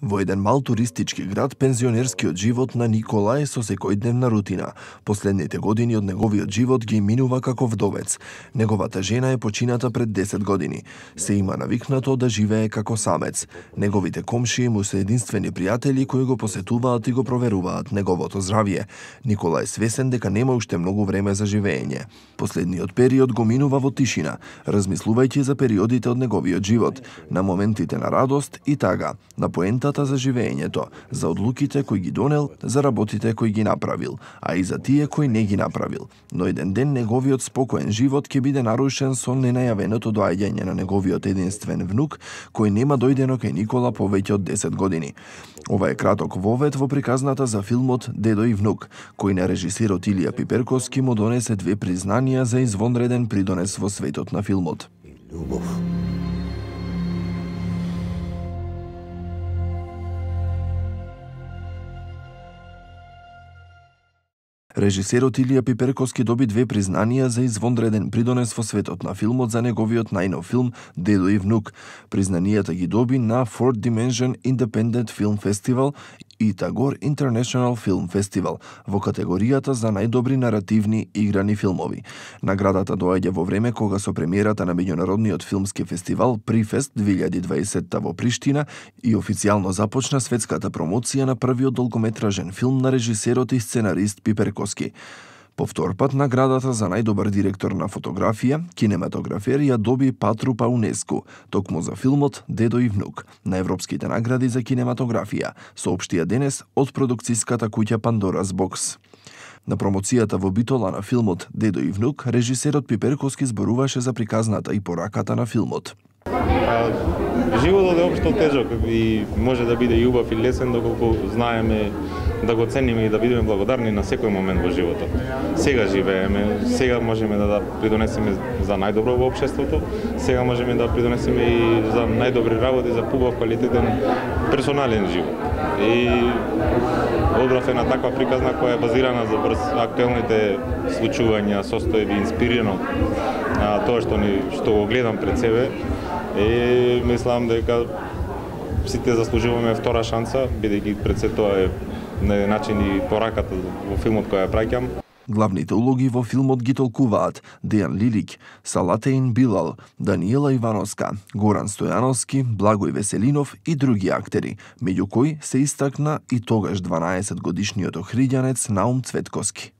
Во еден мал туристички град, пензионерскиот живот на Никола е со секојдневна рутина. Последните години од неговиот живот ги минува како вдовец. Неговата жена е почината пред 10 години. Се има навикнато да живее како самец. Неговите комшии му се единствени пријатели кои го посетуваат и го проверуваат неговото здравје. Никола е свесен дека нема уште многу време за живење. Последниот период го минува во тишина, размислувајќи за периодите од неговиот живот, на моментите на радост и тага, на поентата за живењето, за одлуките кои ги донел, за работите кои ги направил, а и за тие кои не ги направил. Но еден ден неговиот спокоен живот ќе биде нарушен со ненајавеното доаѓање на неговиот единствен внук, кој нема дојдено кај Никола повеќе од 10 години. Ова е краток вовед во приказната за филмот Дедо и внук, кој на режисерот Илија Пиперковски му донесе 2 признанија за извонреден придонес во светот на филмот. Љубов. Режисерот Илија Пиперковски доби 2 признанија за извонреден придонес во светот на филмот за неговиот најнов филм Дедо и внук. Признанијата ги доби на Fourth Dimension Independent Film Festival и Tagore International Film Festival во категоријата за најдобри наративни играни филмови. Наградата доаѓа во време кога со премиерата на меѓународниот филмски фестивал Прифест 2020 во Приштина и официјално започна светската промоција на првиот долгометражен филм на режисерот и сценарист Пиперковски. По втор пат наградата за најдобар директор на фотографија, кинематографер ја доби Патру Паунеску, токму за филмот Дедо и внук, на европските награди за кинематографија, соопштија денес од продукцијската куќа Pandora's Box. На промоцијата во Битола на филмот Дедо и внук, режисерот Пиперковски зборуваше за приказната и пораката на филмот. Животот е општо тежок и може да биде и убав и лесен доколку знаеме да го цениме и да бидеме благодарни на секој момент во животот. Сега живееме, сега можеме да придонесеме за најдобро во општеството, сега можеме да придонесеме и за најдобри работи, за побав квалитетен персонален живот. И одбрав една таква приказна која е базирана за брз актуелните случувања, состојби, инспирирано тоа што го гледам пред себе. И мислам дека сите заслужуваме втора шанса, бидејќи пред се тоа е на еден начин и пораката во филмот која ја праќам. Главните улоги во филмот ги толкуваат Дејан Лилик, Салатеин Билал, Даниела Ивановска, Горан Стојановски, Благој Веселинов и други актери, меѓу кои се истакна и тогаш 12 годишниот охриѓанец Наум Цветковски.